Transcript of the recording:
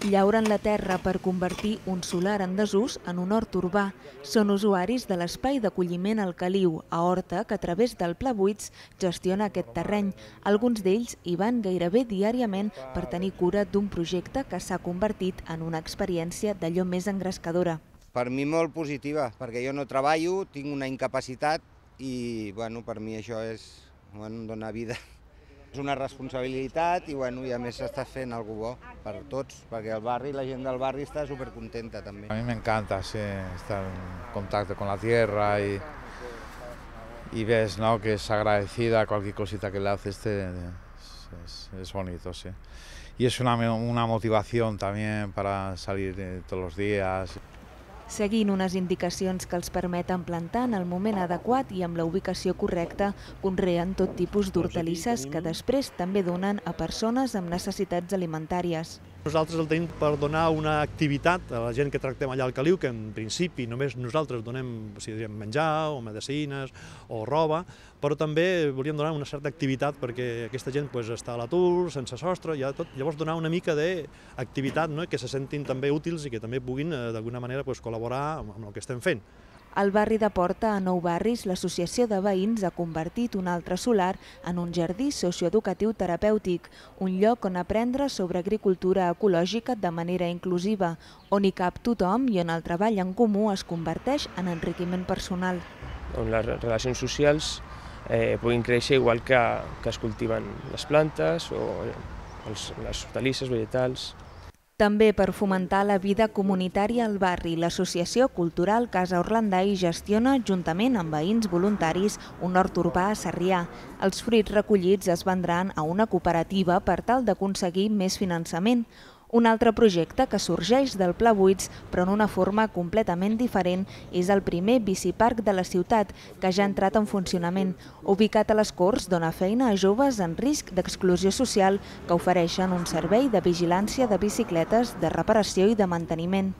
Llauren la terra per convertir un solar en desús en un hort urbà. Són usuaris de l'espai d'acolliment al Caliu, a Horta, que a través del Pla Buits gestiona aquest terreny. Alguns d'ells hi van gairebé diàriament per tenir cura d'un projecte que s'ha convertit en una experiència d'allò més engrescadora. Per mi molt positiva, perquè jo no treballo, tinc una incapacitat i per mi això és donar vida. És una responsabilitat i a més s'està fent algo bo per tots, perquè el barri, la gent del barri està supercontenta també. A mí me encanta estar en contacto con la tierra y ves, ¿no?, que es agradecida cualquier cosita que le haces, es bonito, sí. Y es una motivación también para salir todos los días. Seguint unes indicacions que els permeten plantar en el moment adequat i amb la ubicació correcta, conreen tot tipus d'hortalisses que després també donen a persones amb necessitats alimentàries. Nosaltres el tenim per donar una activitat a la gent que tractem allà al Caliu, que en principi només nosaltres donem menjar o medicines o roba, però també volíem donar una certa activitat perquè aquesta gent està a l'atur, sense sostre, llavors donar una mica d'activitat, que se sentin també útils i que també puguin d'alguna manera col·laborar amb el que estem fent. Al barri de Porta, a Nou Barris, l'Associació de Veïns ha convertit un altre solar en un jardí socioeducatiu terapèutic, un lloc on aprendre sobre agricultura ecològica de manera inclusiva, on hi cap tothom i on el treball en comú es converteix en enriquiment personal. On les relacions socials puguin créixer igual que es cultiven les plantes o les hortalisses vegetals. També per fomentar la vida comunitària al barri, l'Associació Cultural Casa Orlandai gestiona, juntament amb veïns voluntaris, un hort urbà a Sarrià. Els fruits recollits es vendran a una cooperativa per tal d'aconseguir més finançament. Un altre projecte que sorgeix del Pla Buits, però en una forma completament diferent, és el primer biciparc de la ciutat, que ja ha entrat en funcionament. Ubicat a les Corts, dona feina a joves en risc d'exclusió social que ofereixen un servei de vigilància de bicicletes, de reparació i de manteniment.